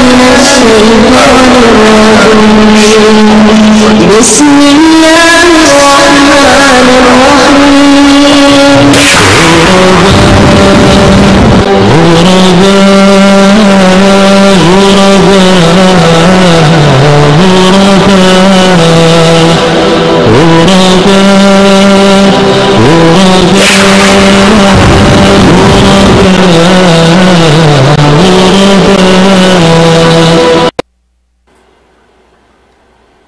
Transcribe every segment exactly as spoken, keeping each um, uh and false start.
الشيطان الرجيم. بسم الله الرحمن الرحيم.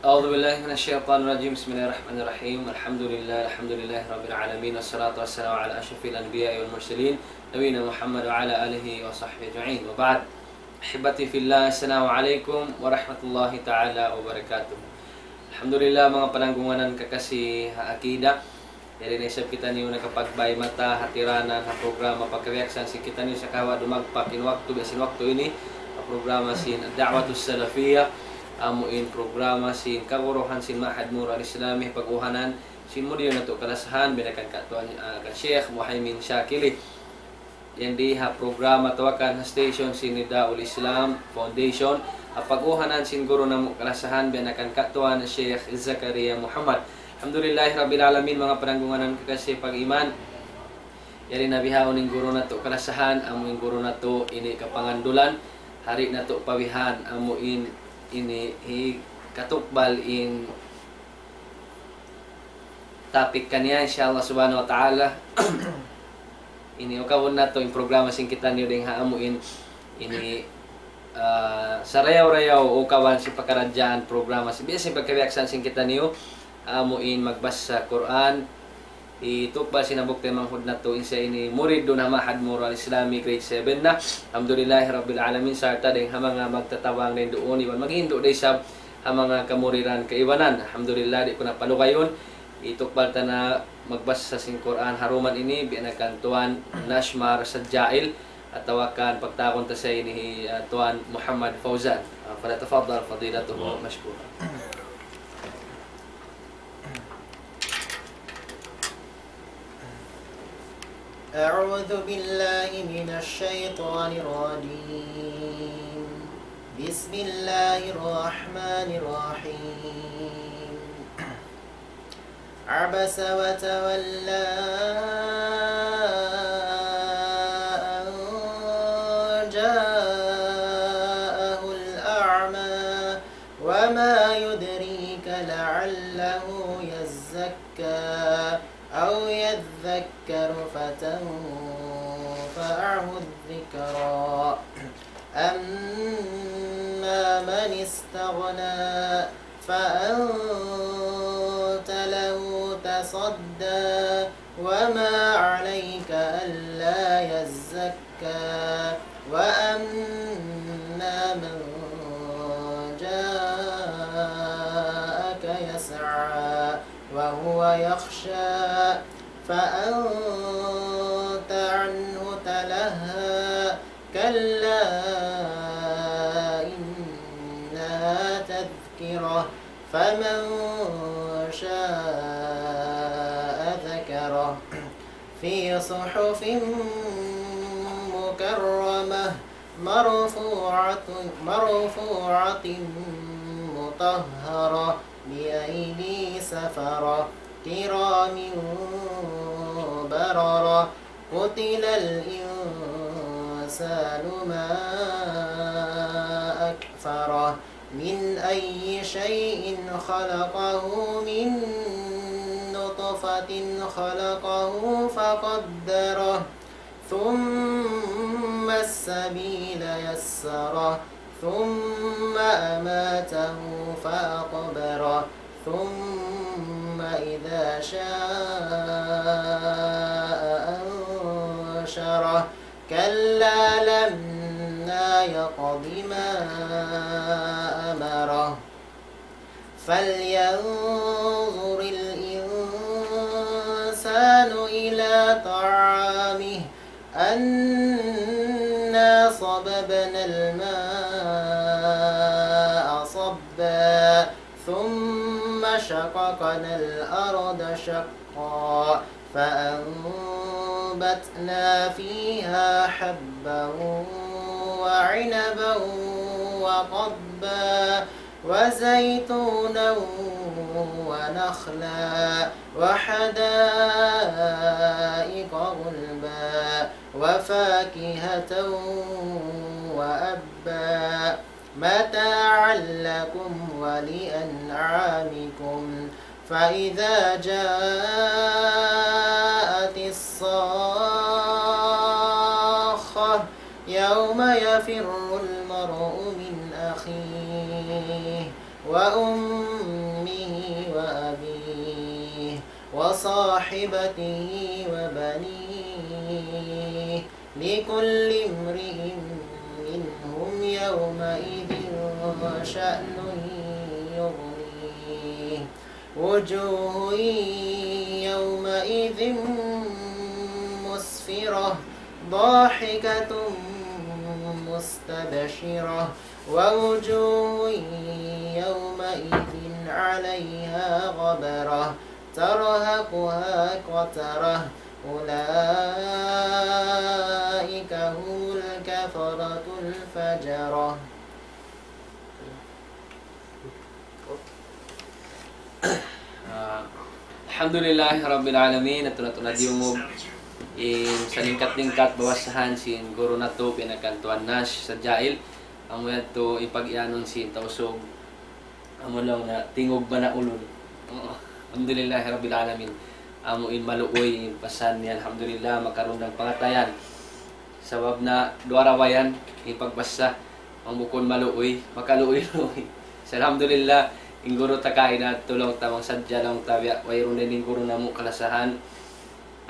أعوذ بالله من الشيطان الرجيم. بسم الله الرحمن الرحيم. الحمد لله، الحمد لله رب العالمين، والصلاة والسلام على أشرف الأنبياء والمرسلين، نبينا محمد وعلى آله وصحبه أجمعين. وبعد. أحبتي في الله، السلام عليكم ورحمة الله تعالى وبركاته. Alhamdulillah, manga pananggunganan kakasi ha akida. Yari na isab kitaniyu nakapagbay mata ha tiranan ha programa pagkabiyaksahan sin kitaniyu sagawa' dumagpak in waktu, biya' sin waktu ini, ha programa sin Da'watus Salafiyah, amu in programa sin kaguruhan sin Ma'had Mura Al-Islami, pag-uhanan sin mudir natu' kalasahan, biya' na kan katuan, ah, kan Sheikh Muhaymin Shakili. Yan di ha programa atawa kan ha station sin Nidaul Islam Foundation, ha pag-uhanan sin guru namu' kalasahan, biya' na kan katuan Sheikh Zakaria Muhammad. Alhamdulillahi Rabbil Alamin, manga pananggunganan kakasi pag-iman. Yari na bihaun in guru natu' kalasahan, amu in guru natu' ini kapangandulan, hari natu' pabihan, amu in ini hi katukbal in topic kaniya, insya Allah subhanahu wa ta'ala. Ini ukabun natu' in programa sin kitaniyu dayng ha amu in ini, ah, sarayaw-rayaw ukaban sin pakaradjaan programa sin biya' sin pagkabiyaksahan sin kitaniyu, amu in magbasa Qur'an, hitukbal sin hambuuk taymanghud natu', in siya ini murid duun ha Ma'had Mura Al-Islami grade seven na. Alhamdulillahi Rabbil Alamin, sarta' dayng ha manga magtatabang dayn duun, iban maghindu' da isab ha manga kamuridan kaibanan. Alhamdulillah, di' ku na palugayun. Hitukbal ta na magbasa sin Qur'an ha duman ini, biya' na kan Tuan Nashmar Sajail, atawa kan pagtawagun ta sa ini hi, ah, Tuan Muhammad Fauzan. Ah, فليتفضل فضيلته مشكورا. أعوذ بالله من الشيطان الرجيم. بسم الله الرحمن الرحيم. عبس وتولى أن جاءه الأعمى. وما يدريك لعله يزكى أو يذكر فتنفعه الذكرى. أما من استغنى فأنت له تصدى. وما عليك ألا يزكى. وأما من جاءك يسعى وهو يخشى فأنت عنه تلهى. كلا إنها تذكرة فمن شاء ذكره في صحف مكرمة مرفوعة، مرفوعة مطهرة بأيدي سفرة كرام بررة. قتل الإنسان ما أكفره. من أي شيء خلقه؟ من نطفة خلقه فقدره. ثم السبيل يسره. ثم أماته فأقبره. ثم إذا شاء أنشره. كلا لما يقض ما أمره. فلينظر الإنسان إلى طعامه. أنا صببنا الماء صبا. ثم شققنا الأرض شقا. فأنبتنا فيها حبا وعنبا وقضبا وزيتونا ونخلا وحدائق غلبا وفاكهة وأبا متاعا لكم ولأنعامكم فإذا جاءت الصاخة يوم يفر المرء من أخيه وأمه وأبيه وصاحبته وبنيه لكل امرئ منهم يومئذ شأن يغنيه وجوه يومئذ مسفرة ضاحكة مستبشرة ووجوه يومئذ عليها غبرة ترهقها قترة أولئك هم الكفرة الفجرة. Ah, Alhamdulillahi Rabbil Alamin, atu na atu na diyungug in salingkat-lingkat bawasahan sin guru natu' pinakantuan Nash sa Jail, amu yadtu in pag-iyanun sin Tausug, amu laung na tingug ba na ulun. Oo. Alhamdulillahi Rabbil Alamin. Amu in maluuy in pasan niya, alhamdulillah, makarundang pangatayan. Sabab na duwa ra bayan in pagbasa, ang bukun maluuy, makaluuy-luuy. Sa alhamdulillah, in guru ta kaina, tulung ta mang sadja laung ta biya', wayruun na in guru namu' kalasahan.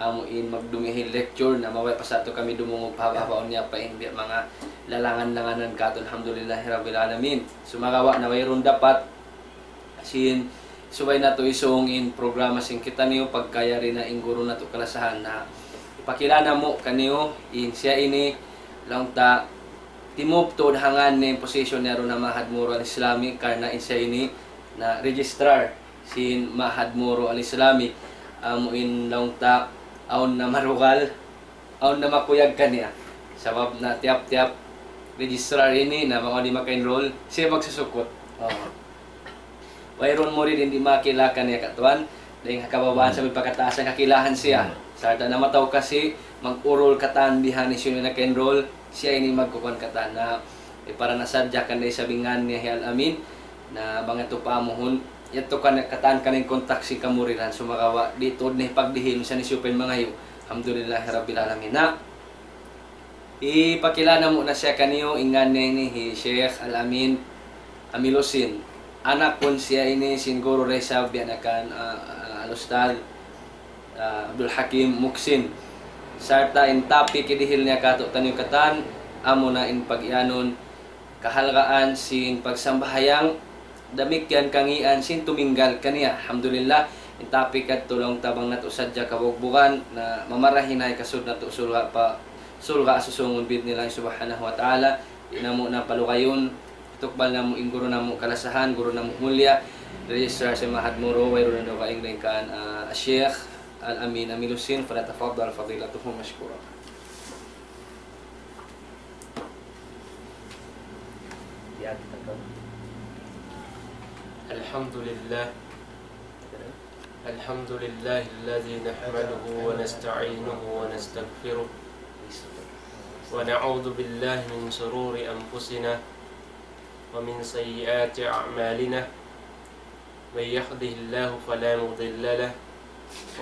Amu in magdumihil lecture na mabaya' pa sa atu kami dumungug pahaba'-habaun niya pa in biya' manga lalangan-langanan katu', alhamdulillahi rabbil alamin. Sumagawa' na wayruun dapat sin subay natu' isung in programa sin kitaniyu pagka yari na in guru natu' kalasahan na ipakila namu' kaniyu in siya ini laung ta timuptud ha ngan niya in position niya duun ha Ma'had Moro Al-Islami karna' in siya ini na registrar sin Ma'had Moro Al-Islami amu in laung ta awn na marugal awn na makuyag kaniya. Sabab na tiyap-tiyap registrar ini na bang di' maka-enroll, siya magsusukut. Oo. Wayruun murid in di' makakila kaniya katuan, dayn ha kababaan sambil pa kataas in kakilahan siya. Sarta' na mataud kasi mag-urul katan bihan hisiyu in naka-enroll, siya ini magkukuan katan na, eh, para na sadja kan da isab in ngan niya hi Al-Amin, na bang yadtu pa amuhun, yadtu kan katan kan in kontak sin kamuridan, sumagawa' di' tuud na hipagdihil, minsan hisiyu pa in mangayu'. Alhamdulillahi Rabbil Alamin. Na, ipakila namu' na siya kaniyu, in ngan niya ini hi Sheikh Al-Amin Amilusin. Anak kun siya ini sin guru da isab biya' na kan, ah, ah, Al-Ustadz, ah, Abdul Hakim Muksin. Sarta' in topic hidihil niya kātu'niyu katan, amuna in pag-iyanun, kahalgaan sin pagsambahayang, damikkiyan kangīan sin tuminggal kaniya. Alhamdulillah, in topic yadtu laung ta bang natu' sadja kabugbugan, na mamarahi na hikasud natu' surga' pa, surga' susungun bi'idhnillahi subhanahu wa ta'ala. Di' namu' na palugayun, tukbal namu' in guru namu' kalasahan, guru namu' mulliya, registrar sin Ma'had Moro, wayruun na dugaing dayn kan, ah, Sheikh Al-Amin Amilusin, فليتفضل فضيلته مشكورا. الحمد لله. الحمد لله الذي نحمده ونستعينه ونستغفره، ونعوذ بالله من شرور أنفسنا ومن سيئات أعمالنا. من يهده الله فلا مضل له،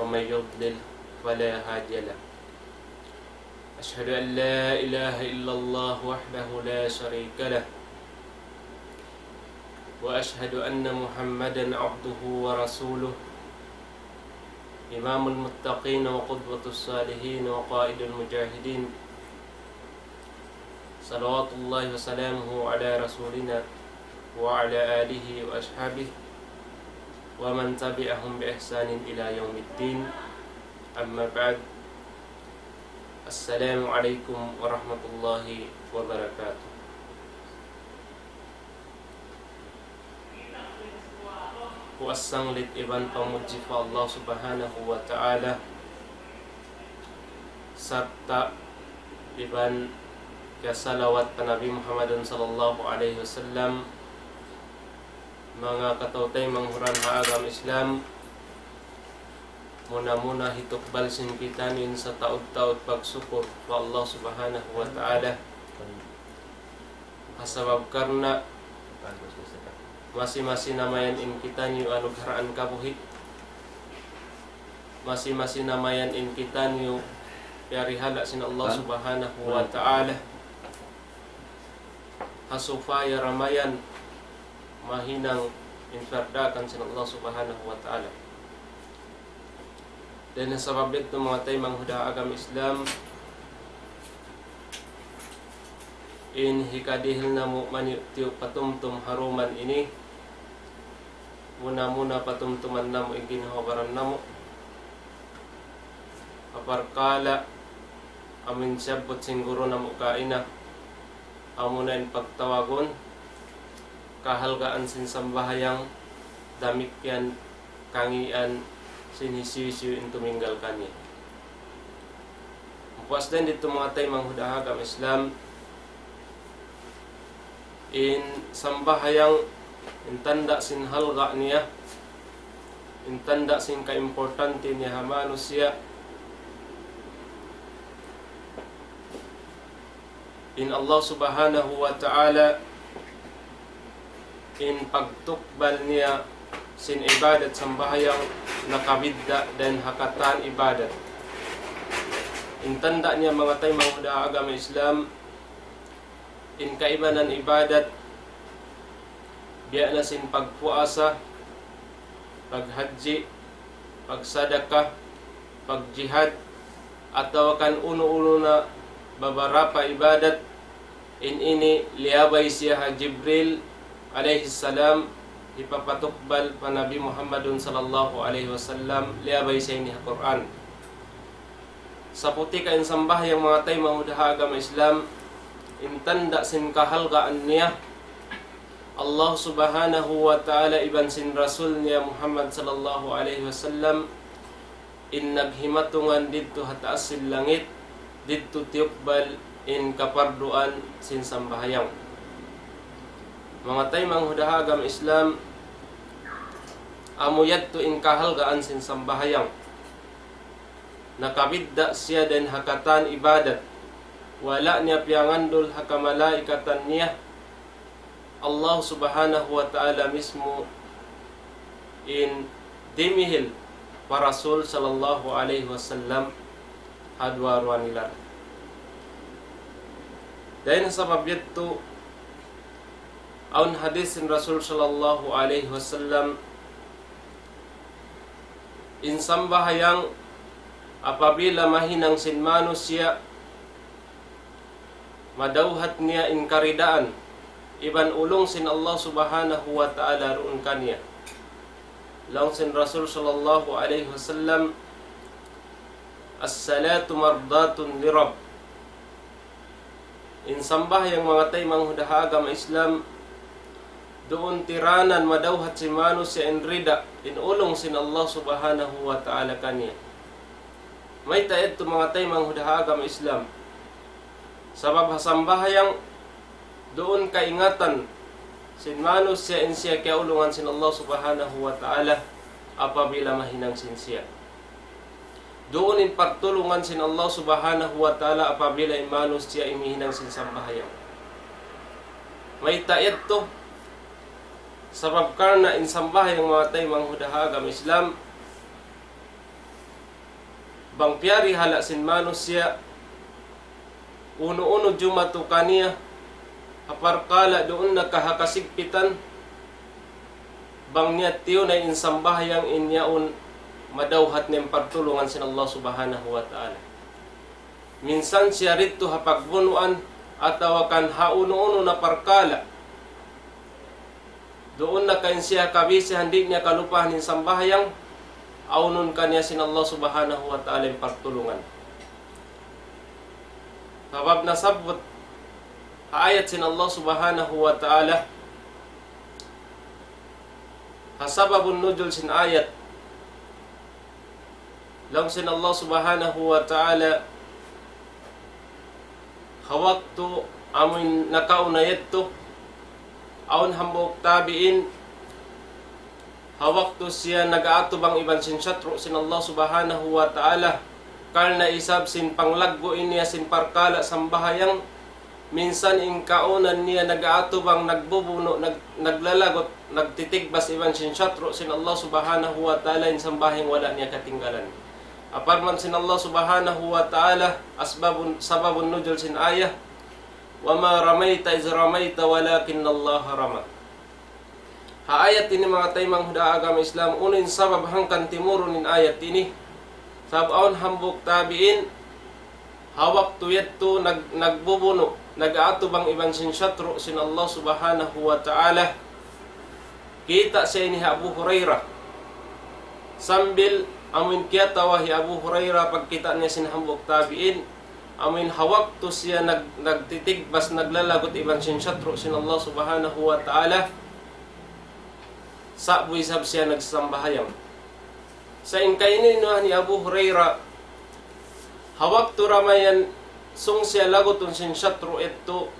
ومن يضلل فلا هادي له. أشهد أن لا إله إلا الله وحده لا شريك له، وأشهد أن محمدا عبده ورسوله، إمام المتقين وقدوة الصالحين وقائد المجاهدين، صلوات الله وسلامه على رسولنا وعلى آله وأصحابه ومن تبعهم بإحسان إلى يوم الدين. أما بعد، السلام عليكم ورحمة الله وبركاته. Puas sanglit iban pamudji pa Allah Subhanahu wa Ta'ala, sarta' iban Kasalawat pa Nabi Muhammadun sallallahu alayhi wasallam. Manga kataw-taymanghuran ha agama Islam, muna-muna hitukbal sin kitaniyu in sataud-taud pagsukur pa Allah Subhanahu wa Ta'ala. Ha sabab karna' masi-masi namayan in kitaniyu anugharaan kabuhi'. Masi-masi namayan in kitaniyu piyarihala' sin Allah Subhanahu wa Ta'ala. Ha supaya da mayan mahinang in piyardakan sin Allah Subhanahu wa Ta'ala. Dayn ha sabab yadtu, manga taymanghud ha agama Islam, in hikadihil namu' maniyuk-tiyuk patumtum ha duman ini, muna-muna patumtuman namu' in ginhawa-baran namu'. Ha parkala' amun siyabbut sin guru namu' kaina, amuna in pagtawagun kahalgaan sin sambahayang, damikkiyan kangīan sin hisiyu-siyu in tuminggal kaniya. Puas dayn didtu, manga taymanghud ha agama Islam, in sambahayang, in tanda' sin halga' niya, in tanda' sin kaimportante niya ha manusiya', in Allah Subhanahu wa Ta'ala, in pagtukbal niya sin ibadat sambahayang nakabidda' dayn ha katan ibadat. In tanda' niya, manga taymanghud ha agama Islam, in kaibanan ibadat, biya' na sin pagpuasa, paghajji, pagsadaka, pagjihad, atawa kan unu-unu na babarapa ibadat, in ini liyabay siya ha Jibril alayhi salam, hipapatukbal pa Nabi Muhammadun sallallahu alayhi wasallam, liyabay siya ini ha Qur'an. Saputi ka in sambahayang, manga taymanghud ha agama Islam, in tanda' sin kahalgaan niya, Allah Subhanahu wa Ta'ala iban sin Rasul niya Muhammad sallallahu alayhi wasallam, in naghimatungan didtu ha taas sin langit, didtu tiyukbal in kaparduan sin sambahayang. Manga taymanghud ha agama Islam, amu yadtu in kahalgaan sin sambahayang. Nakabidda' siya dayn ha katan ibadat. Wala' niya piyangandul ha kamalaikatan niya. Allah Subhanahu wa Ta'ala mismu in dimihil pa Rasul sallallahu alayhi wasallam ha duwa-ruwa nila. Dayn ha sabab yadtu, awn hadis sin Rasul sallallahu alayhi wasallam, in sambahayang apabila mahinang sin manusiya', madawhat niya in karidaan iban ulung sin Allah Subhanahu wa Ta'ala duun kaniya. Laung sin Rasul sallallahu alayhi wasallam, "As-salatu mardatun lirabb." In sambahayang, manga taymanghud ha agama Islam, duun tiranan madawhat sin manusiya' in rida, in ulung sin Allah Subhanahu wa Ta'ala kaniya. Mayta' yadtu, manga taymanghud ha agama Islam? Sabab ha sambahayang, duun kaingatan sin manusiya' in siya kiyaulungan sin Allah Subhanahu wa Ta'ala apabila mahinang sin siya. Duun in partulungan sin Allah Subhanahu wa Ta'ala apabila in manusiya' in mihinang sin sambahayang. Mayta' yadtu? Sabab karna' in sambahayang, manga taymanghud ha agama Islam, bang piyarihala' sin manusiya', unu-unu jumatu kaniya, ha parkala' duun na ka ha kasigpitan, bang niya tiyunay in sambahayang, in yaun madawhat niya in partulungan sin Allah Subhanahu wa Ta'ala. Minsan siya didtu ha pagbunuan atawa kan ha unu-unu na parkala'. Duun na ka in siya kabisihan, di' niya kalupahan in sambahayang, awnun kaniya sin Allah Subhanahu wa Ta'ala in partulungan. Sabab nasabbut ha ayat sin Allah Subhanahu wa Ta'ala, ha sababun nuzul sin ayat, laung sin Allah Subhanahu wa Ta'ala, Ha waktu amuin nakauna yadtu, awn hambuuk tabi'in, ha waktu siya nag-aatubang iban sin satru' sin Allah Subhanahu wa Ta'ala, karna' isab sin panglaggu' niya sin parkala' sambahayang, minsan in kaunan niya nag-aatubang, nagbubunu', nag-, naglalagut, nagtitigbas iban sin satru' sin Allah Subhanahu wa Ta'ala, in sambahayang wala' niya katinggalan. Parman sin Allah Subhanahu wa Ta'ala, asbabun, sababun nuzul sin ayah, وما رميت إذ رميت ولكن الله رمى. Ha ayat ini, manga taymanghud ha agama Islam, unu in sabab hangkan timurun in ayat ini? Sabab awn hambuuk tabi'in, ha waktu yadtu nag-, nagbubunu', nag-aatubang iban sin satru' sin Allah Subhanahu wa Ta'ala, kita' siya ini hi Abu Hurairah. Sambil amuin kiyatawa hi Abu Hurairah pagkita' niya sin hambuuk tabi'in, amuin ha waktu siya nag-, nagtitigbas, naglalagut iban sin satru' sin Allah Subhanahu wa Ta'ala, sa'bu isab siya nagsambahayang. Sa' in kainu-inuhan hi Abu Hurairah, ha waktu ramayan sung siya lagutun sin satru' yadtu,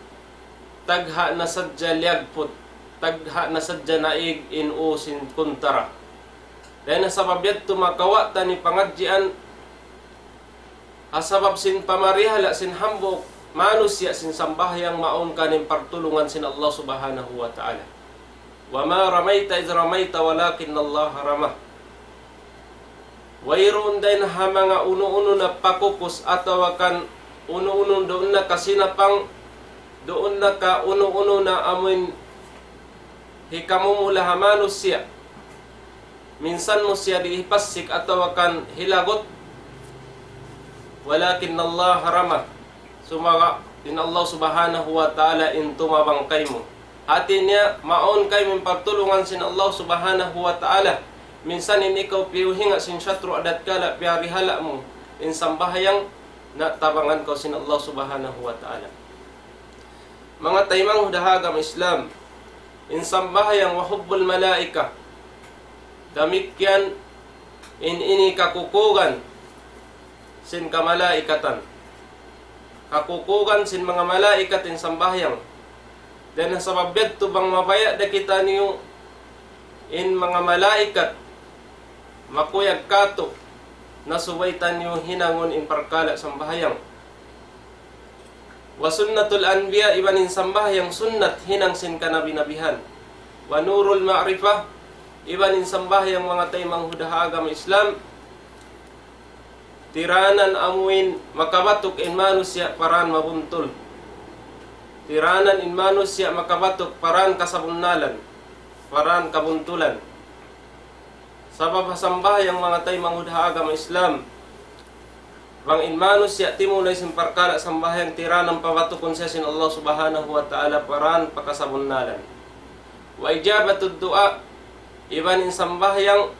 tagha' na sadja liyagput, tagha' na sadja naig in ū sin kuntara. Dayn ha sabab yadtu makawa' ta ini pangadjian, ha sabab sin pamarihala' sin hambuuk manusiya' sin sambahayang mawn kaniya in pagtulungan sin Allah Subhanahu wa Ta'ala. وما رميت إذ رميت ولكن الله رمى. Wayruun dayn ha manga unu-unu na pakukus atawa kan unu-unu duun na kasinapang, duun na ka unu-unu na amuin hikamumula ha manusiya'. Minsan mu siya di' hipassik atawa kan hilagut. ولكن الله رمى. Sumagawa' in Allah Subhanahu wa Ta'ala in tumabang kaymu. Hati niya, mawn kaymu in pagtulungan sin Allah Subhanahu wa Ta'ala. Minsan in ikaw piyuhinga' sin satru' atawa kala' piyarihala' mu in sambahayang, na tabangan kaw sin Allah Subhanahu wa Ta'ala. Manga taymanghud ha agama Islam, in sambahayang وحب الملائكة. Damikkiyan in ini kakukugan sin kamalaikatan. Kakukugan sin manga malaikat in sambahayang. Dayn ha sabab yadtu bang mabaya' da kitaniyu in manga malaikat makuyag kātu', na subay taniyu hinangun in parkala' sambahayang. وسنة الأنبياء, iban in sambahayang sunnat hinang sin kanabi-nabihan. ونور المعرفة, iban in sambahayang manga taymanghud ha agama Islam, tiranan amuin makabatuk in manusiya' pa dan mabuntul. Tiranan in manusiya' makabatuk pa dan kasabunnalan, pa dan kabuntulan. Sabab ha sambahayang manga taymanghud ha agama Islam, bang in manusiya' timunay sin parkala' sambahayang, tiranan pabatukun siya sin Allah Subhanahu wa Ta'ala pa dan pa kasabunnalan. وإجابة الدعاء, iban in sambahayang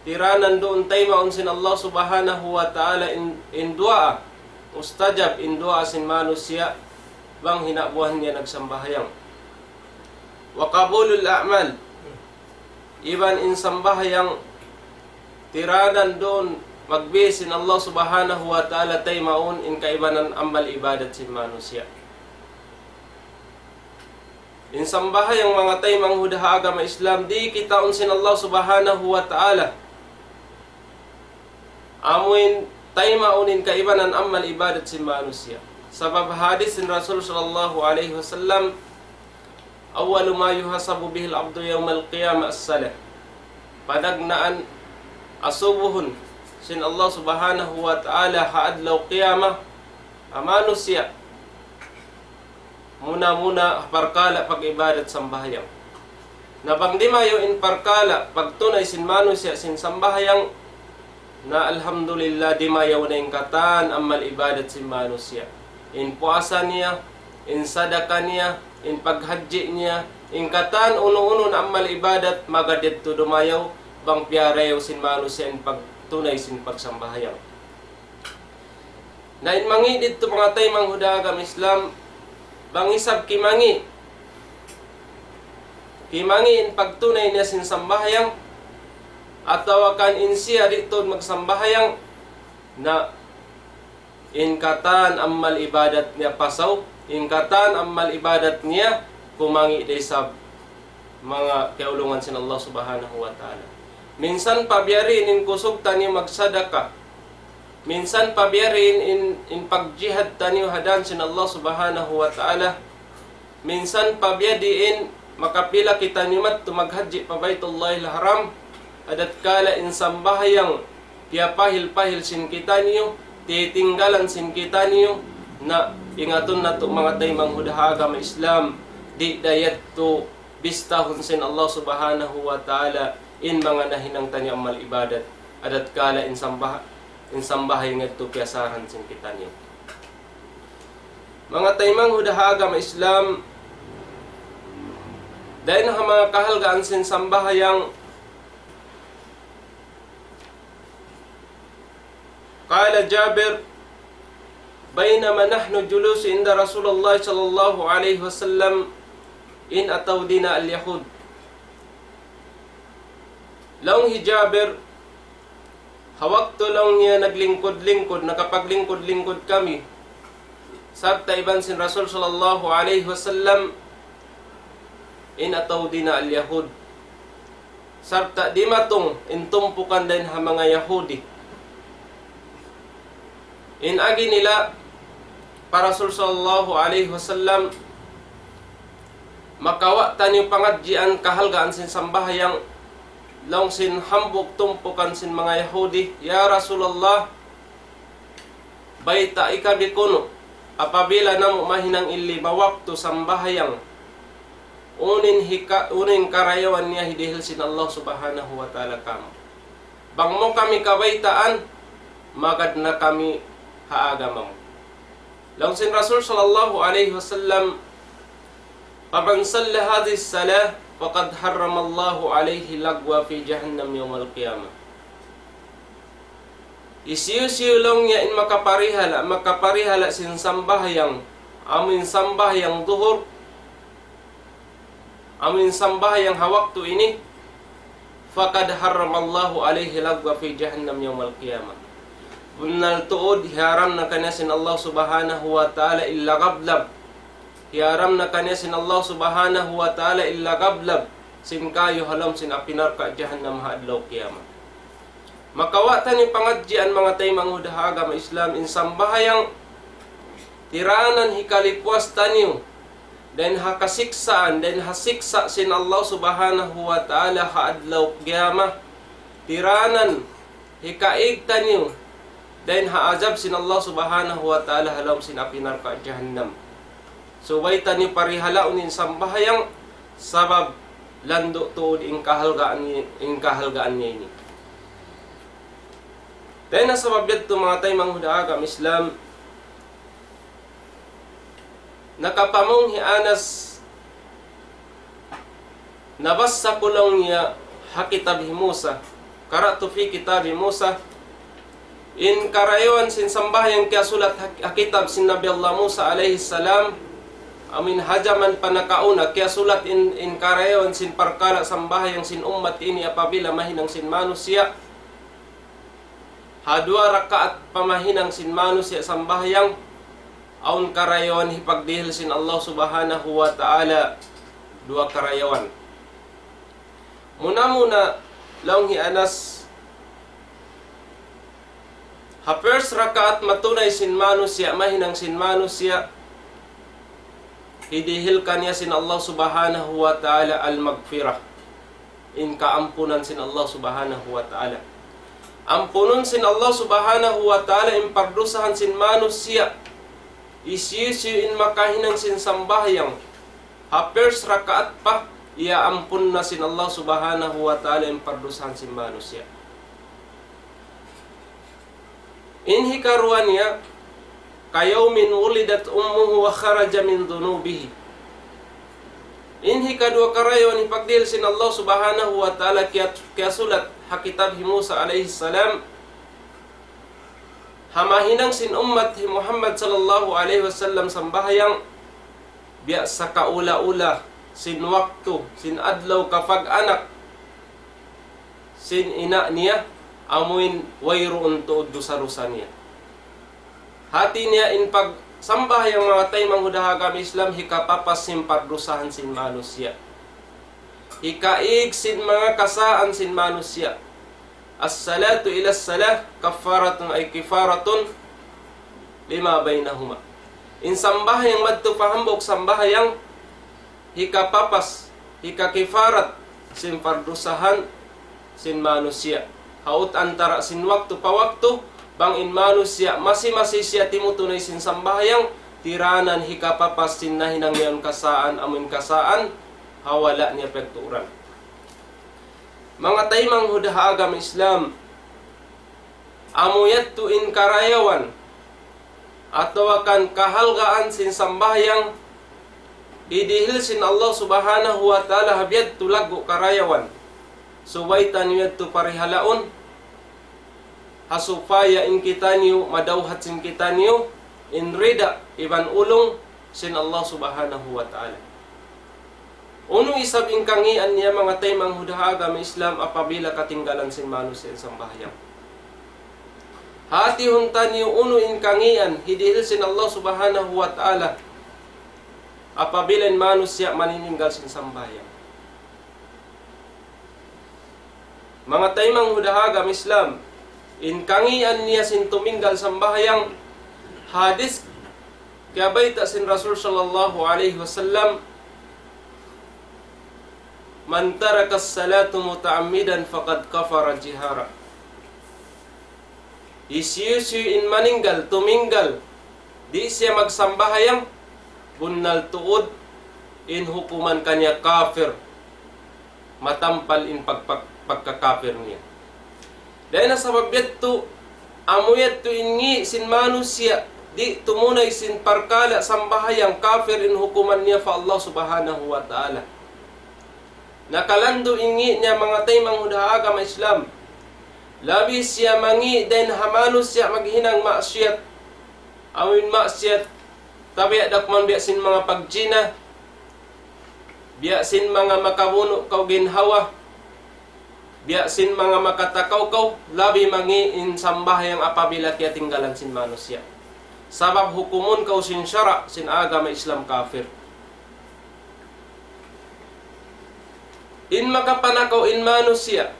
tiranan duun taymaun sin Allah Subhanahu wa Ta'ala in, in duwaa, mustajab in duwaa sin manusiya' bang hinabuhan niya nagsambahayang. وقبول الأعمال, iban in sambahayang tiranan duun magbis in Allah Subhanahu wa Ta'ala taymaun in kaibanan amal ibadat sin manusiya'. In sambahayang manga taymanghud ha agama Islam, di' kitaun sin Allah Subhanahu wa Ta'ala amuin taymaun in kaibanan amal ibadat sin manusiya'. Sabab hadis sin Rasul sallallahu alayhi wasallam, أول ما يحاسب به العبد يوم القيامة الصلاة. Panagnaan asubuhun sin Allah Subhanahu wa Ta'ala ha adlaw qiyamah ha manusiya', muna-muna parkala' pag-ibadat sambahayang. Na bang dimayaw in parkala' pagtunay sin manusiya' sin sambahayang, na alhamdulillah, dimayaw na in katan amal ibadat sin manusiya'. In puasa niya, in sadaka niya, in paghajji niya, in katan unu-unu na amal ibadat, magad yadtu dumayaw, bang piyarayaw sin manusiya' in pagtunay sin pagsambahayang. Na in mangi' didtu manga taymanghud ha agama Islam, bang isab kimangi', kimangi' in pagtunay niya sin sambahayang, atawa kan in siya di' tuud magsambahayang, na In katan amal ibadat niya pasaw, in katan amal ibadat niya kumangi' da isab manga kiyaulungan sin Allah Subhanahu wa Ta'ala. Minsan pa biya' diin in kusug taniyu magsadaka. Minsan pa biya' diin in, in pagjihad taniyu ha dan sin Allah Subhanahu wa Ta'ala. Minsan pa biya' diin makapila kitaniyu madtu maghajji pa Baytullahil Haram, ha tatkala in sambahayang piyapahil-pahil sin kitaniyu, titinggalan sin kitaniyu, na ingatun natu' manga taymanghud ha agama Islam, di' da yadtu bistahun sin Allah Subhanahu wa Ta'ala in manga nahinang taniyu amal ibadat, ha tatkala in sambah-, in sambahayang yadtu piyasaran sin kitaniyu. Manga taymanghud ha agama Islam, dayn ha manga kahalgaan sin sambahayang, قال جابر: بينما نحن جلوس عند رسول الله صلى الله عليه وسلم إذ أتوا بنا اليهود. Laung hi Jabir, ha waktu laung niya naglingkud-lingkud, nakapaglingkud-lingkud kami, sarta' iban sin Rasul sallallahu alayhi wasallam, إذ أتوا بنا اليهود. Sarta' dimatung in tumpukan dayn ha manga Yahudi. In agi nila pa Rasul sallallahu alayhi wasallam, makawa' taniyu pangadjian kahalgaan sin sambahayang, laung sin hambuuk tumpukan sin manga Yahudi, "Ya Rasulullah, baytai kami kunu', apabila namu' mahinang in lima waktu sambahayang, unu in hika-, unu in karayawan niya hidihil sin Allah Subhanahu wa Ta'ala kamu. Bang mu kami kabaytaan, magad na kami ha agama mu." Laung sin Rasul sallallahu alayhi wasallam, فمن صلى هذه الصلاة فقد حرم الله عليه اللغو في جهنم يوم القيامة. Hisiyu-siyu laung niya in makaparihala', makaparihala' sin sambahayang, amu in sambahayang duhur, amu in sambahayang ha waktu ini, فقد حرم الله عليه اللغو في جهنم يوم القيامة. Bunnal tuud, hiyaram na kaniya sin Allah Subhanahu wa Ta'ala in lagablab. Hiyaram na kaniya sin Allah Subhanahu wa Ta'ala in lagablab sin kayu ha lawm sin api narka' jahannam ha adlaw kiyamat. Makawa' taniyu pangadjian manga taymanghud ha agama Islam, in sambahayang tiranan hikalipuas taniyu dayn ha kasiksaan, dayn ha siksa' sin Allah Subhanahu wa Ta'ala ha adlaw kiyamat. Tiranan hikaig taniyu dayn ha azab sin Allah Subhanahu wa Ta'ala ha lawm sin api narka' jahannam. Subay taniyu parihalaun in sambahayang, sabab landu' tuud in kahalgaan ni-, in kahalgaan niya ini. Dayn ha sabab yadtu manga taymanghud ha agama Islam, nakapamung hi Anas, nabassa ku laung niya ha kitab hi Musa, قرأت في كتاب موسى, in karayawan sin sambahayang kiyasulat ha, ha kitab sin Nabi Allah Musa alayhi salam, amu in ha jaman pa nakauna, kiyasulat in, in karayawan sin parkala' sambahayang sin ummat ini apabila mahinang sin manusiya'. Ha duwa rakaat pamahinang sin manusiya' sambahayang, awn karayawan hipagdihil sin Allah Subhanahu wa Ta'ala, duwa karayawan. Muna-muna, laung hi Anas, ha first rakaat matunay sin manusiya', mahinang sin manusiya', hidihil kaniya sin Allah Subhanahu wa Ta'ala al-maghfirah, in kaampunan sin Allah Subhanahu wa Ta'ala. Ampunun sin Allah Subhanahu wa Ta'ala in pardusahan sin manusiya'. Hisiyu-siyu in makahinang sin sambahayang ha first rakaat pa, iyaampun na sin Allah Subhanahu wa Ta'ala in pardusahan sin manusiya'. In hikaruwa niya, كيوم ولدت أمه وخرج من ذنوبه. In hikaduwa karayawan hipagdihil sin Allah Subhanahu wa Ta'ala kiyat-, kiyasulat ha kitab hi Musa alayhi salam, ha mahinang sin ummat hi Muhammad sallallahu alayhi wasallam sambahayang, biya' sakaula-ula sin waktu, sin adlaw kapag-anak sin ina' niya, amuin wayruun tuud dusa-dusa niya. Hati niya in pagsambahayang manga taymanghud ha agama Islam hikapapas sin pardusahan sin manusiya'. Hikaig sin manga kasaan sin manusiya'. الصلاة إلى الصلاة كفارة أي كفارة لما بينهما. In sambahayang madtu pa hambuuk sambahayang hikapapas, hikakifarat sin pardusahan sin manusiya'. Haut antara sin waktu pa waktu, bang in manusiya' masi-masi siya timutunay sin sambahayang, tiranan hikapapas sin nahinang niya kasaan, amun kasaan, ha wala' niya pagtuuran. Manga taymanghud ha agama Islam, amu yadtu in karayawan atawa kan kahalgaan sin sambahayang hidihil sin Allah Subhanahu wa Ta'ala ha biya' yadtu laggu' karayawan. Subay taniyu yadtu parihalaun, ha supaya in kitaniyu, madawhat sin kitaniyu, in rida, iban ulung sin Allah Subhanahu wa Ta'ala. Unu isab in kangīan niya manga taymanghud ha agama Islam apabila katinggalan sin manusiya' in sambahayang. Hatihun taniyu unu in kangīan hidihil sin Allah Subhanahu wa Ta'ala apabila in manusiya' maninggal sin sambahayang. Manga taymanghud ha agama Islam, in kangīan niya sin tuminggal sambahayang, hadis kiyabayta' sin Rasul sallallahu alayhi wasallam, من ترك الصلاة متعمدا فقد كفر جهارا. Hisiyu-siyu in maninggal, tuminggal, di' siya magsambahayang, bunnal tuud in hukuman kaniya kafir. Matampal in pag-, pag-, pagkakafir niya. Dayn ha sabab yadtu, amu yadtu in ngī' sin manusiya', di' tumunay sin parkala' sambahayang, kafir in hukuman niya pa Allah Subhanahu wa Ta'ala. Nakalandu' in ngī' niya manga taymanghud ha agama Islam. Labi siya mangī' dayn ha manusiya' maghinang maksiyat. Amu in maksiyat, tabiya' da kuman biya' sin manga pagjina, biya' sin manga makabunu' kaw ginhawa, biya' sin manga makatakawkaw, labi mangī' in sambahayang apabila kiyatinggalan sin manusiya'. Sabab hukumun kaw sin sara', sin agama Islam kafir. In makapanakaw in manusiya',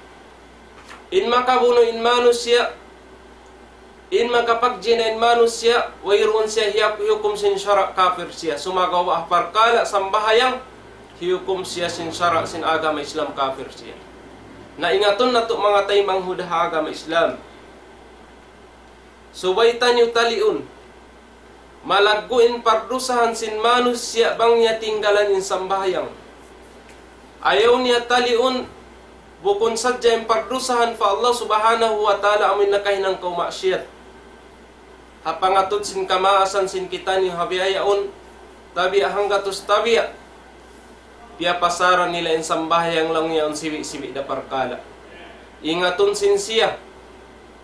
in makabunu' in manusiya', in makapagjina in manusiya', wayruun siya hiya-, hihukum sin sara', kafir siya. Sumagawa' ha parkala' sambahayang, hihukum siya sin sara', sin agama Islam, kafir siya. Na ingatun natu' manga taymanghud ha agama Islam. Subay taniyu taliun. Malaggu' in pardusahan sin manusiya' bang niya tinggalan in sambahayang. Ayaw niya taliun, bukun sadja in pardusahan pa Allah Subhanahu wa Ta'ala amu in nakahinang kaw maksiyat. Ha pangatud sin kamaasan sin kitaniyu ha bihaun, tabiya' hanggatus tabiya'. Piyapasaran nila in sambahayang laung niya awn sibi'-sibi' da parkala'. Ingatun sin siya.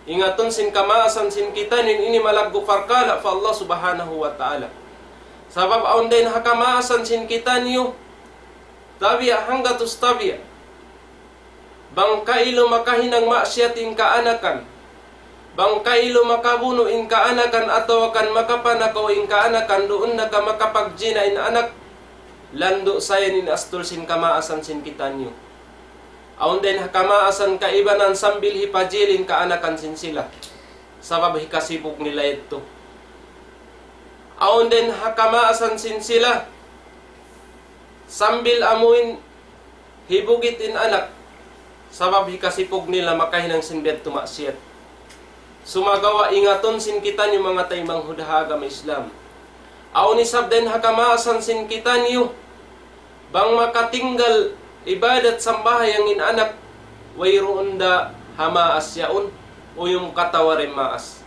Ingatun sin kamaasan sin kitaniyu in ini malaggu' parkala' pa Allah Subhanahu wa Ta'ala. Sabab awn dayn ha kamaasan sin kitaniyu, tabiya' hanggatus tabiya'. Bang kailu makahinang maksiyat in kaanakan, bang kailu makabunu' in kaanakan atawa kan makapanakaw in kaanakan, duun na ka makapagjina in anak, landu' sayan in astul sin kamaasan sin kitaniyu. Awn dayn ha kamaasan kaibanan sambil hipajil in kaanakan sin sila. Sabab hikasipug nila yadtu. Awn dayn ha kamaasan sin sila sambil amuin hibugit in anak, sabab hikasipug nila makahinang sin biya' yadtu maksiyat. Sumagawa' ingatun sin kitaniyu manga taymanghud ha agama Islam. Awn isab dayn ha kamaasan sin kitaniyu, bang makatinggal ibadat sambahayang in anak, wayruun da ha maas yaun, uyum katawa da in maas.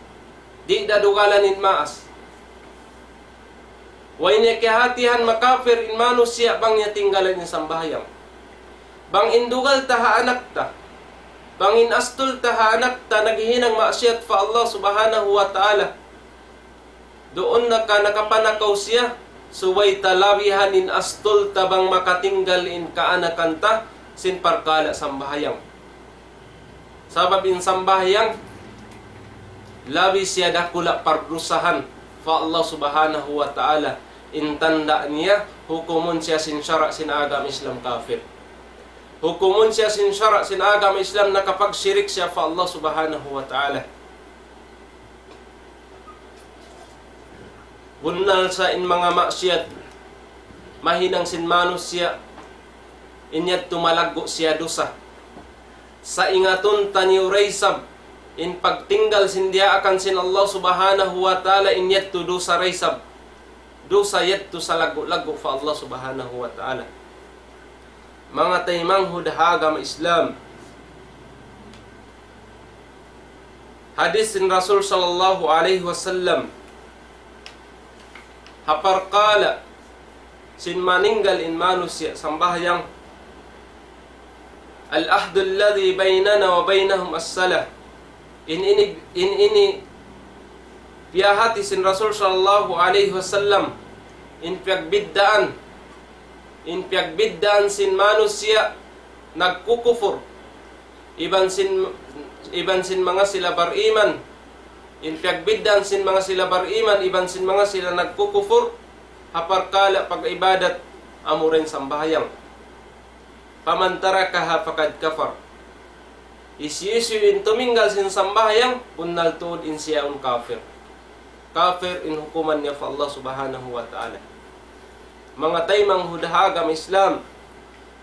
Di' da dugalan in maas. Way niya kiyahatihan makapir in manusiya' bang niya tinggalan in sambahayang. Bang in dugal ta ha anak ta, bang in astul ta ha anak ta naghihinang maksiyat pa Allah Subhanahu wa Ta'ala, duun na ka nakapanakaw siya, subay ta labihan in astul ta bang makatinggal in kaanakan ta sin parkala' sambahayang. Sabab in sambahayang, labi siya dakula' pardusahan pa Allah Subhanahu wa Ta'ala, in tanda' niya, hukumun siya sin sara' sin agama Islam kafir. Hukumun siya sin sara' sin agama Islam, nakapagshirik siya pa Allah Subhanahu wa Ta'ala. Bunnal sa in manga maksiyat, mahinang sin manusiya', in yadtu malaggu' siya dusa. Sa' ingatun taniyu da isab, in pagtinggal sin diyaakan sin Allah Subhanahu wa Ta'ala, in yadtu dusa da isab. Dusa yadtu salaggu'-laggu' pa Allah Subhanahu wa Ta'ala. Manga taymanghud ha agama Islam. Hadis sin Rasul sallallahu alayhi wasallam. Ha parkala' sin maninggal in manusiya' sambahayang. العهد الذي بيننا وبينهم الصلاة. In ini, in ini piyahati sin Rasul sallallahu alayhi wasallam, in piyagbiddaan, in piyagbiddaan sin manusiya' nagkukupur iban sin, iban sin manga sila bariman, in piyagbiddaan sin manga sila bariman iban sin manga sila nagkukupur, ha parkala' pag-ibadat, amura in sambahayang. فمن تركها فقد كفر. Hisiyu-siyu in tuminggal sin sambahayang, bunnal tuud in siya yaun kafir. Kafir in hukuman niya pa Allah Subhanahu wa Ta'ala. Manga taymanghud ha agama Islam,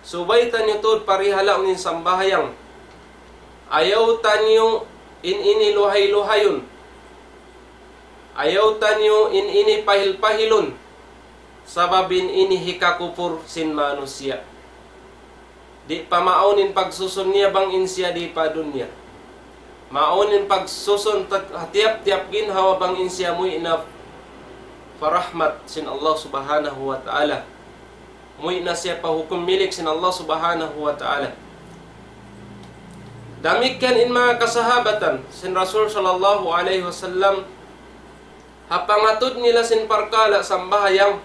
subay taniyu tuud parihalaun in sambahayang. Ayaw taniyu in ini luhay-luhayun. Ayaw taniyu in ini pahil-pahilun. Sabab in ini hikakupur sin manusiya'. Di' pa maawn in pagsusun niya bang in siya di pa dunya. Maawn in pagsusun ta-, ha tiyap-tiyap ginhawa bang in siya muwi' na pa rahmat sin Allah Subhanahu wa Ta'ala. Muwi' na siya pa hukum milik sin Allah Subhanahu wa Ta'ala. Damikkiyan in manga kasahabatan sin Rasul sallallahu alayhi wasallam, ha pangatud nila sin parkala' sambahayang,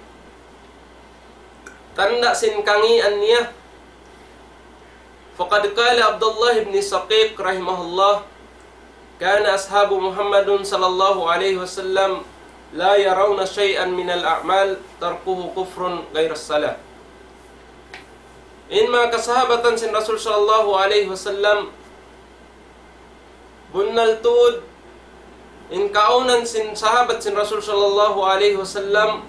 tanda' sin kangīan niya. فقد قال عبد الله بن شقيق رحمه الله: كان أصحاب محمد صلى الله عليه وسلم لا يرون شيئا من الأعمال تركه كفر غير الصلاة. In manga kasahabatan sin Rasul sallallahu alayhi wasallam, bunnal tuud, in kaawnan sin sahabat sin Rasul sallallahu alayhi wasallam,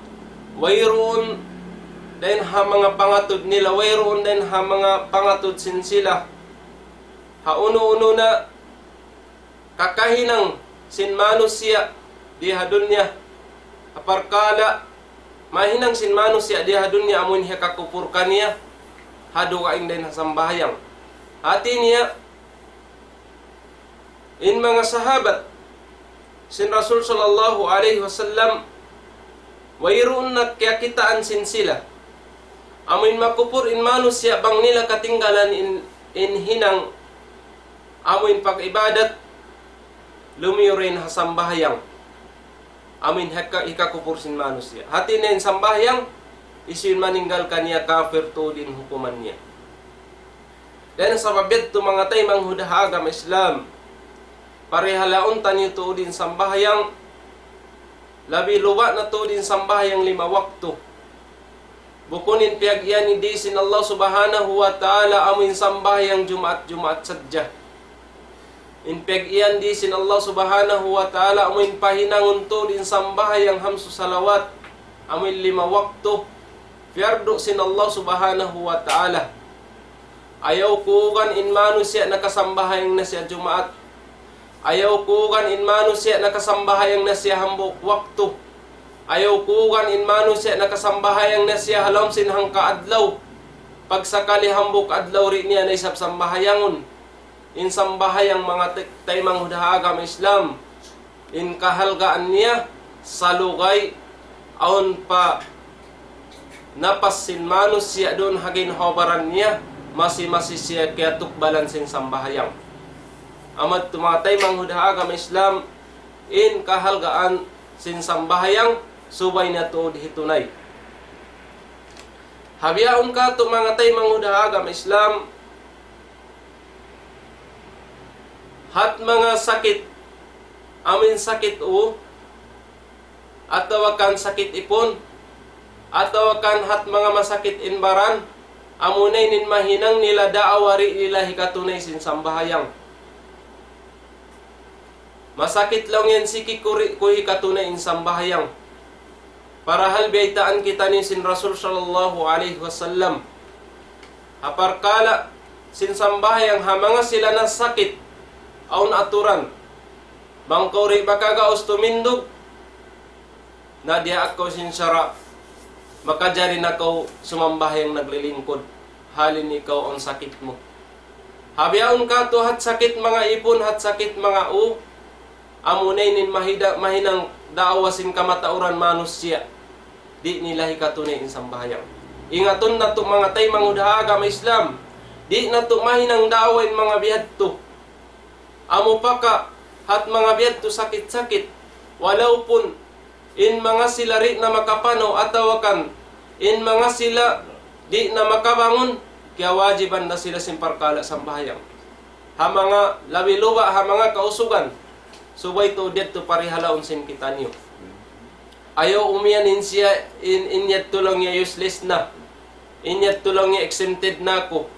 wayruun dayn ha manga pangatud nila, wayruun dayn ha manga pangatud sin sila. Ha unu-unu na kakahinang sin manusiya' di ha dunya, ha parkala' mahinang sin manusiya' di ha dunya amun hikakupur kaniya, ha dugaing dayn ha sambahayang. Hati niya, in manga sahabat sin Rasul sallallahu alayhi wasallam, wayruun na kiyakitaan sin sila. Amun makupur in manusiya' bang nila katinggalan in, in hinang amun pag-ibadat, lumiyu dayn ha sambahayang. Amun hika-, hikakupur sin manusiya'. Hati niya in sambahayang, hisiyu in maninggal kaniya kafir tuud in hukuman niya. Dayn ha sabab yadtu manga taymanghud ha agama Islam, parihalaun taniyu tuud in sambahayang, labi luba' na tuud in sambahayang lima waktu. Bukun in piyag-iyan di sin Allah Subhanahu wa Ta'ala amu in sambahayang Jumaat-Jumaat sadja. In piyag-iyan di sin Allah Subhanahu wa Ta'ala amu in pahinangun tuud in sambahayang hamsu salawat, amu in lima waktu, piyardu sin Allah Subhanahu wa Ta'ala. Ayaw kuugan in manusiya' nakasambahayang na siya Jumaat. Ayaw kuugan in manusiya' nakasambahayang na siya hambuuk waktu. Ayaw kuugan in manusiya' nakasambahayang na siya ha lawm sin hangka adlaw. Pagsakali hambuuk adlaw di' niya na isab sambahayangun. In sambahayang manga tay-, taymanghud ha agama Islam, in kahalgaan niya, salugay, awn pa napas sin manusiya' duun ha ginhawa-baran niya, masi-masi siya kiyatukbalan sin sambahayang. Amu yadtu manga taymanghud ha agama Islam, in kahalgaan sin sambahayang, subay niya tuud hitunay. Ha bihaun katu' manga taymanghud ha agama Islam, hat manga sakit, amu in sakit u, atawa kan sakit ipun, atawa kan hat manga masakit in baran, amuna ini in mahinang nila daawa di' nila hikatunay sin sambahayang. Masakit laung yan, siki ku di' ku hikatunay in sambahayang. Parahal biyaytaan kitaniyu sin Rasul sallallahu alayhi wasallam ha parkala' sin sambahayang ha manga sila nasakit, awn aturan. Bang kaw di' makagaus tumindug, na diyaak kaw sin sara', makajari na kaw sumambahayang naglilingkud, halin ikaw awn sakit mu. Ha bihaun katu' hat sakit manga ipun, hat sakit manga u, amuna ini in mahida-, mahinang daawa sin kamatauran manusiya'. Di' nila hikatunay in sambahayang. Ingatun natu' manga taymanghud ha agama Islam, di' natu' mahinang daawa in manga bihadtu. Amu pa ka hat manga bihadtu sakit-sakit, walaupun in manga sila di' na makapanaw atawa kan in manga sila di' na makabangun, kiyawajiban da sila sin parkala' sambahayang. Ha manga labi luba' ha manga kausugan, subay tuud yadtu parihalaun sin kitaniyu. Ayaw umiyan in siya, in, in yadtu laung niya useless na. In yadtu laung niya exempted na aku.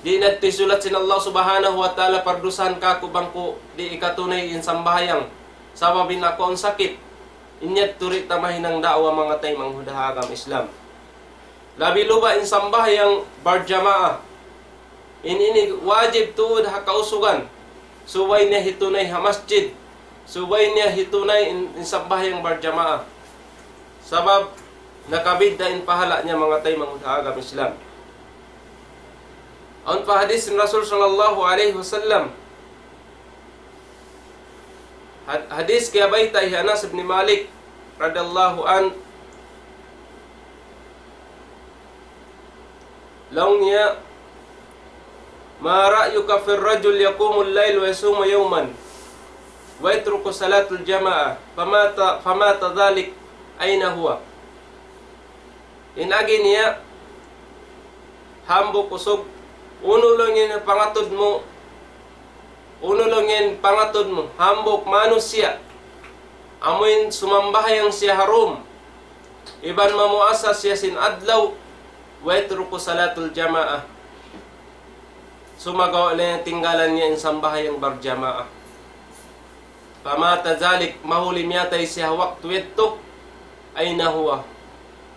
Di' na yadtu hisulat sin Allah Subhanahu wa Ta'ala pardusahan kaku' bang ku di' hikatunay in sambahayang. Sabab in aku awn sakit. In yadtu di' ta mahinang daawa manga taymanghud ha agama Islam. Labi luba' in sambahayang barjamaah. In ini wajib tuud ha kausugan. Subay niya hitunay ha masjid. Subay niya hitunay in, in sambahayang barjamaah. Sabab nakabidda' in pahala' niya manga taymanghud ha agama Islam. Awn pa hadith sin Rasul sallallahu alayhi wasallam. Had-, hadith kiyabayta' hi Anas ibn Malik radiyallahu anhu. Laung niya, ما رأيك في الرجل يقوم الليل ويصوم يوما ويترك صلاة الجماعة فمات، فمات ذلك أين هو؟ In agi niya, hambuuk usug, unu laung in pangatud mu, unu laung in pangatud mu, hambuuk manusiya', amuin sumambahayang siya ha dum, iban mamuasa siya sin adlaw, ويترك صلاة الجماعة. Sumagawa' na tinggalan niya in sambahayang barjamaah. فمات ذلك, mahuli miyatay siya ha waktu yadtu, أين هو,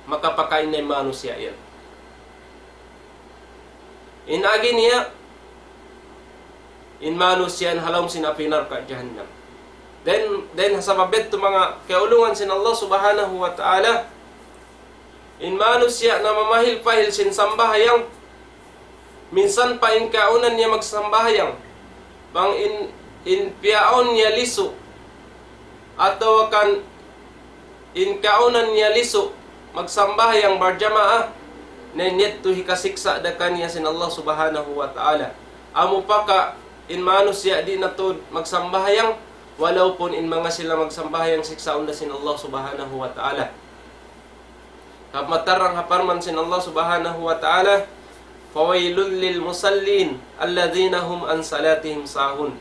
makapakain na in manusiya' yan. In agi niya, in manusiya' yan ha lawm sin api narka' jahannam. Then, then sabab yadtu manga kiyaulungan sin Allah Subhanahu wa Ta'ala, in manusiya' namamahil-pahil sin sambahayang, minsan pa in kaunan niya magsambahayang, bang in, in piyaawn niya lisu', atawa kan in kaunan niya lisu', magsambahayang barjamaah, na in yadtu hikasiksa' da kaniya sin Allah Subhanahu wa Ta'ala. Amu pa ka in manusiya' di' na tuud magsambahayang, walaupun in manga sila magsambahayang siksaun da sin Allah Subhanahu wa Ta'ala. Sabab matarang ha parman sin Allah Subhanahu wa Ta'ala, فويل للمصلين الذين هم عن صلاتهم ساهون.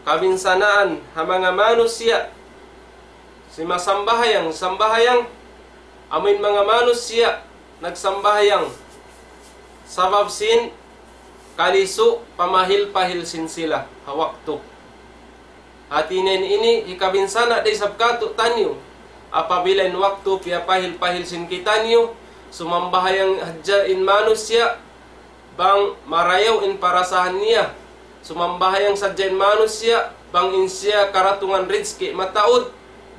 Kabinsanaan ha manga manusiya' simasambahayang, sambahayang, amuin manga manusiya' nagsambahayang sabab sin kalisu', pamahil-pahil sin sila ha waktu. Hati niya ini hikabinsana' da isab kātu'niyu. Apabila in waktu piyapahil-pahil sin kitaniyu, sumambahayang hadja in manusiya', bang marayaw in parasahan niya. Sumambahayang sadja in manusiya', bang in siya karatungan rizki mataud,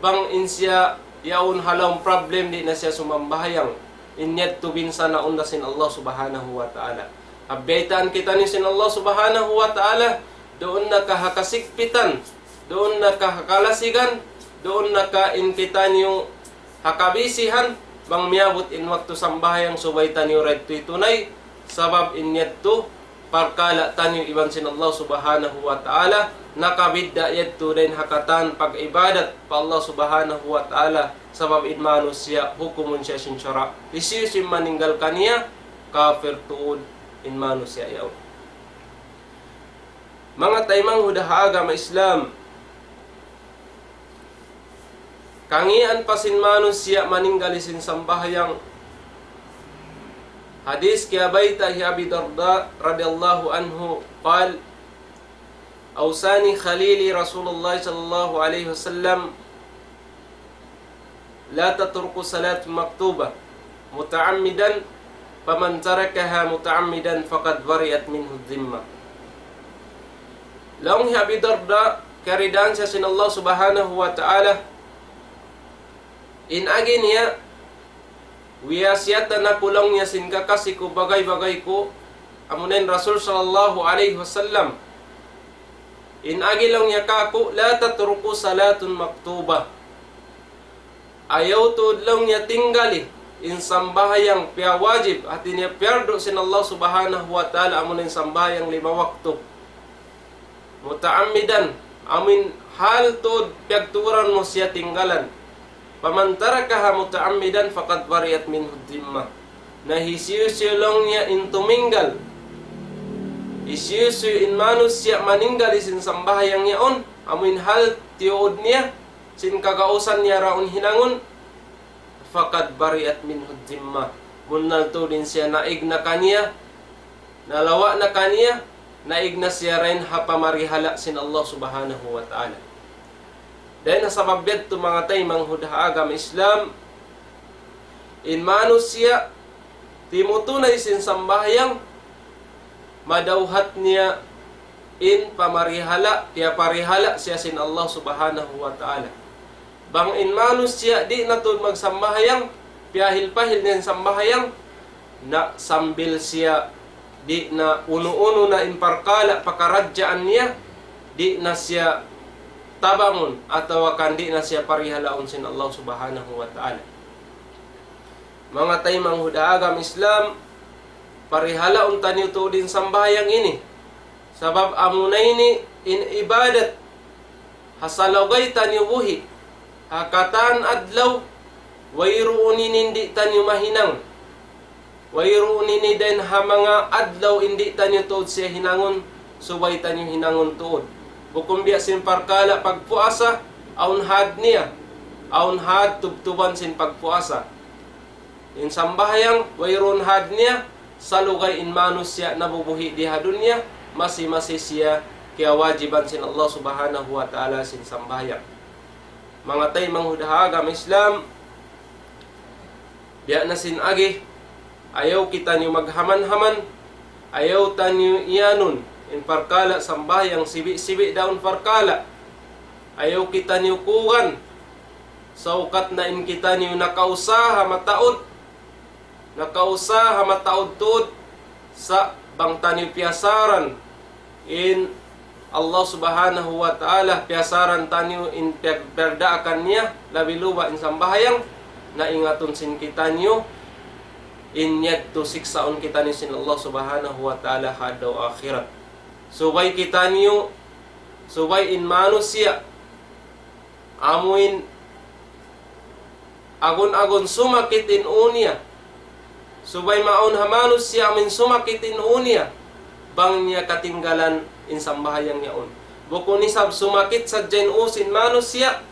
bang in siya yaun ha lawm problem di' na siya sumambahayang. In yadtu binsanaun da sin Allah Subhanahu wa Ta'ala. Biyaytaan kitaniyu sin Allah Subhanahu wa Ta'ala, duun na ka ha kasigpitan, duun na ka ha kalasigan, duun na ka in kitaniyu ha kabisihan, bang miyabut in waktu sambahayang subay taniyu da yadtu hitunay, sabab in yadtu parkala' taniyu iban sin Allah Subhanahu wa Ta'ala, nakabidda' yadtu dayn ha katan pag-ibadat pa Allah Subhanahu wa Ta'ala, sabab in manusiya' hukumun siya sin sara'. Hisiyu-siyu in maninggal kaniya, kapir tuud in manusiya' yaun. Manga taymanghud ha agama Islam, Kangian pa sin manusiya' maninggal sin sambahayang. Hadith kiyabayta' hi Abi Darda radiyallahu anhu, قال: أوصاني خليلي رسول الله صلى الله عليه وسلم: لا تتركوا صلاة مكتوبة متعمدا، فمن تركها متعمدا فقد برئت منه الذمة. Laung hi Abi Darda, kiyaridaan siya sin Allah Subhanahu wa Ta'ala, in agi niya, wiyasiyatan aku laung niya sin kakasi ku, bagay-bagay ku, amuna in Rasul sallallahu alayhi wasallam. In agi laung niya kāku', لا تتركوا صلاة مكتوبة. Ayaw tuud laung niya tinggali in sambahayang piyawajib, hāti niya piyardu sin Allah Subhanahu wa Ta'ala, amuna in sambahayang lima waktu. متعمدا, amuin hal tuud piyagturan mu siya tinggalan. فمن تركها متعمدا فقد برئت منه الذمة. Na hisiyu-siyu laung niya in tuminggal, hisiyu-siyu in manusiya' maninggal sin sambahayang yaun, amuin hal tiyuud niya, sin kagausan niya yaun hinangun, فقد برئت منه الذمة. Bunnal tuud in siya naig na kaniya, nalawa' na kaniya, naig na siya dayn ha pamarihala' sin Allah Subhanahu wa Ta'ala. Dayn ha sabab yadtu, manga taymanghud ha agama Islam, in manusiya' timutunay sin sambahayang, madawhat niya in pamarihala', piyaparihala' siya sin Allah Subhanahu wa Ta'ala. Bang in manusiya' di' na tuud magsambahayang, piyahil-pahil niya in sambahayang, na sambil siya di' na unu-unu na in parkala' pakaradjaan niya, di' na siya tabangun atawa kan di' na siya parihalaun sin Allah Subhanahu wa Ta'ala. Manga taymanghud ha agama Islam, parihalaun taniyu tuud in sambahayang ini. Sabab amuna ini in ibadat ha salugay taniyu buhi', ha katan adlaw, wayruun ini di' taniyu mahinang. Wayruun ini dayn ha manga adlaw in di' taniyu tuud siya hinangun, subay taniyu hinangun tuud. Bukun biya' sin parkala' pagpuasa, awn had niya, awn had tubtuban sin pagpuasa. In sambahayang, wayruun had niya, salugay in manusiya' nabubuhi' di ha dunya, masi-masi siya kiyawajiban sin Allah Subhanahu wa Ta'ala sin sambahayang. Manga taymanghud ha agama Islam, biya' na sin agi, ayaw kitaniyu maghaman-haman, ayaw taniyu iyanun in parkala' sambahayang, sibi'-sibi' da in parkala'. Ayaw kitaniyu kugan, saukat na in kitaniyu nakausaha mataud, nakausaha mataud tuud, sa' bang taniyu piyasaran in Allah Subhanahu wa Ta'ala, piyasaran taniyu in piyag-, piyagdaakan niya, labi luba in sambahayang, na ingatun sin kitaniyu in yadtu siksaun kitaniyu sin Allah Subhanahu wa Ta'ala ha adlaw akhirat. Subay kitaniyu, subay in manusiya', amuin agun-agun sumakit in ū niya. Subay maawn ha manusiya' amuin sumakit in ū niya, bang niya katinggalan in sambahayang yaun. Bukun isab sumakit sadja in ū sin manusiya',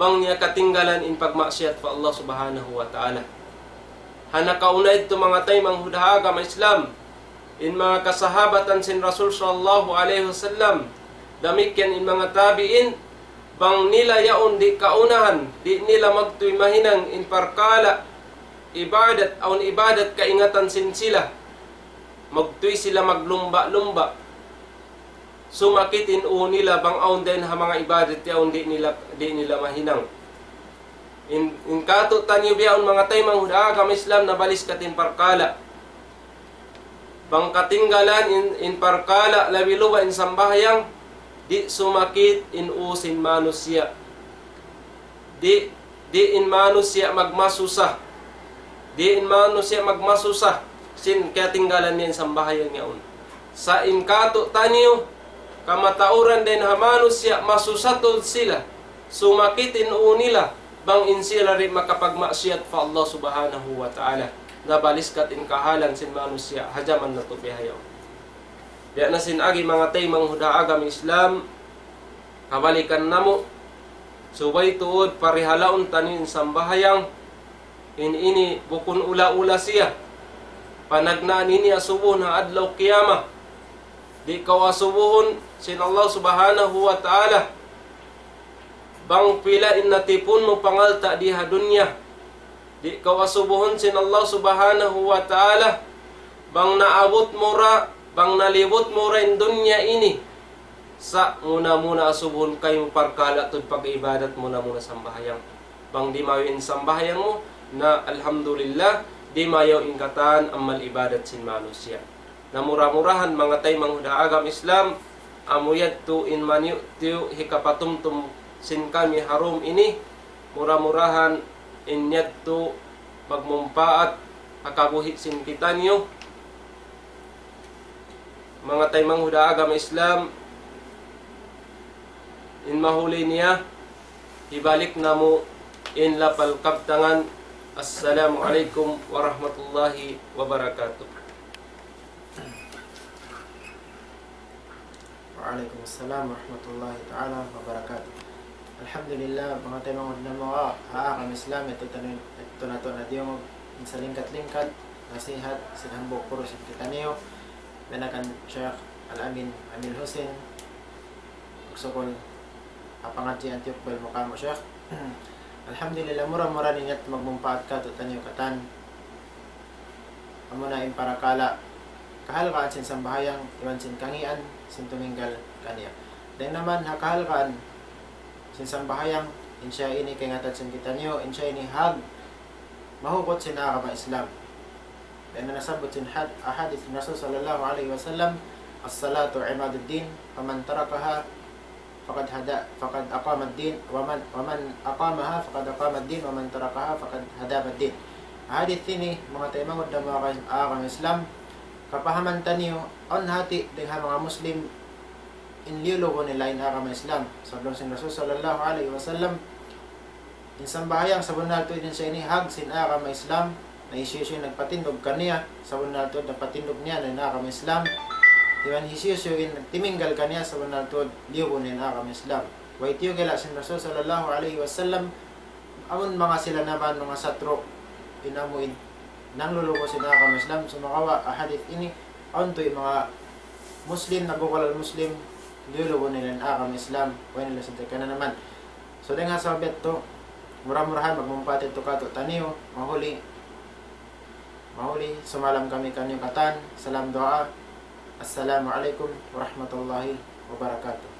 bang niya katinggalan in pagmaksiyat pa Allah Subhanahu wa Ta'ala. Ha nakauna yadtu, manga taymanghud ha agama Islam, in manga kasahabatan sin Rasul sallallahu alayhi wasallam, damikkiyan in manga tabi'in, bang nila yaun di' kaunahan, di' nila magtuy mahinang in parkala' ibadat, awn ibadat kaingatan sin sila, magtuy sila maglumba'-lumba'. Sumakit in ū nila bang awn dayn ha manga ibadat yaun di' nila, di' nila mahinang. In, in kātu'niyu bihaun, manga taymanghud ha agama Islam, nabaliskat in parkala'. Bang katinggalan in, in parkala', labi luba in sambahayang, di' sumakit in ū sin manusiya'. Di', di' in manusiya' magmasusa. Di' in manusiya' magmasusa sin katinggalan niya in sambahayang yaun. Sa' in kātu'niyu, kamatauran dayn ha manusiya', masusa tuud sila, sumakit in ū nila, bang in sila di' makapagmaksiyat pa Allah Subhanahu wa Ta'ala. Nabaliskat in kahalan sin manusiya' ha jaman natu' bihaun. Biya' na sin agi, manga taymanghud ha agama Islam, kabalikan namu', Subay tuud parihalaun taniyu in sambahayang, in ini bukun ula-ula siya. Panagnaan ini asubuhun ha adlaw qiyamah. Di' kaw asubuhun sin Allah Subhanahu wa Ta'ala bang pila in natipun mu pangalta' di ha dunya. Di' kaw asubuhun sin Allah Subhanahu wa Ta'ala bang naabut mu ra, bang nalibut mu ra in dunya ini. Sa' muna-muna asubuhun kaymu parkala' tuud pag-ibadat, muna-muna sambahayang. Bang dimayaw in sambahayang mu, na alhamdulillah, dimayaw in katan amal ibadat sin manusiya'. Na mura-murahan, manga taymanghud ha agama Islam, amu yadtu in maniyu'-tiyu' hikapatumtum sin kami ha room ini, mura-murahan in yadtu magmumpaat ha kabuhi' sin kitaniyu. Manga taymanghud ha agama Islam, in mahuli niya, hibalik namu' in lapal kabtangan. Assalamu alaykum warahmatullahi wabarakatuh. Wa alaykum assalam warahmatullahi ta'ala wabarakatuh. Alhamdulillah, manga taymanghud namu' ha agama Islam, yadtu taniyu, yadtu natu' na diyungug, in salingkat-lingkat nasihat sin hambuuk guru sin kitaniyu, biya' na kan Sheikh Al-Amin Amil Hussein, magsukul ha pangadji' tiyukbal mu kamu', Sheikh. Alhamdulillah, mura-murahan in yadtu magmumpaat katu'taniyu katan. Amuna in parakala' kahalgaan sin sambahayang iban sin kangīan sin tuminggal kaniya. Dayn naman ha kahalgaan sin sambahayang, in siya ini kaingatan sin kitaniyu, in siya ini hag mahugut sin agama Islam. Dayn ha nasabbut sin had-, hadith Rasul sallallahu alayhi wasallam, الصلاة عماد الدين، فمن تركها فقد هدى، فقد أقام الدين، ومن، ومن أقامها فقد أقام الدين، ومن تركها فقد هدم الدين. Hadith ini, manga taymanghud namu' ha agama Islam, kapahaman taniyu, awn hati dayn ha manga Muslim, in liyulubu nila in agama Islam. Sabab laung sin Rasul sallallahu alayhi wasallam, in sambahayang sabunnal tuud in siya ini hag sin agama Islam, na hisiyu-siyu in nagpatindug kaniya, sabunnal tuud nagpatindug niya na in agama Islam. Iban hisiyu-siyu in nagtiminggal kaniya, sabunnal tuud liyubu niya in agama Islam. Way tiyukila' sin Rasul sallallahu alayhi wasallam, amun manga sila naman manga satru', in amu in nanglulubu sin agama Islam, sumagawa' ha hadith ini, awn tuud manga Muslim, nagkukulal Muslim, liyulubu nila in agama Islam, way nila sadja kananaman. So, dayn ha sabab yadtu, mura-murahan magmumpaat yadtu katu'taniyu, mahuli, mahuli, sumalam kami kaniyu katan, salam duwaa. Assalamu alaykum warahmatullahi wabarakatuh.